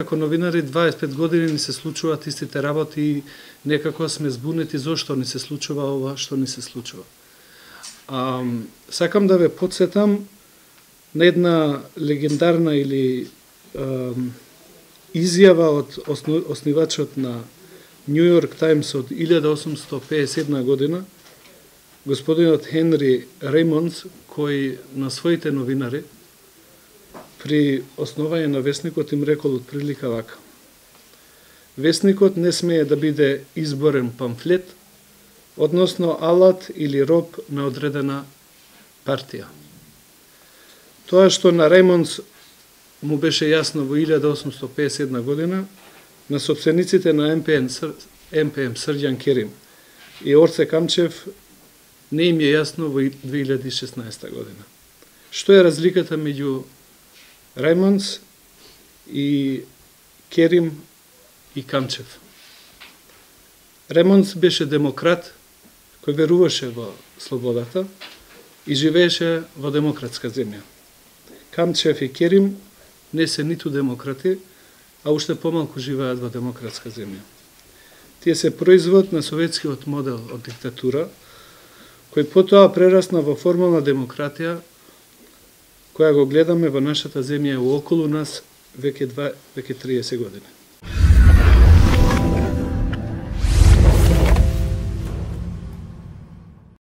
Како новинари 25 години ни се случуваат истите работи и некако сме збунети зошто ни се случува ова што ни се случува. Сакам да ве потсетам на една легендарна или изјава од основачот на Нью Йорк Таймс од 1857 година, господинот Хенри Реймондс, кој на своите новинари при основање на весникот им рекол отприлика вака: весникот не смее да биде изборен памфлет, односно алат или роб на одредена партија. Тоа што на Реймондс му беше јасно во 1851 година, на собствениците на МПМ Срđan Керим и Орце Камчев не им е јасно во 2016 година. Што е разликата меѓу Реймондс и Керим и Камчев? Реймондс беше демократ кој веруваше во слободата и живееше во демократска земја. Камчев и Керим не се ниту демократи, а уште помалку живеат во демократска земја. Тие се производ на советскиот модел од диктатура, кој потоа прерасна во формална демократија, која го гледаме во нашата земја и околу нас веќе 30 години.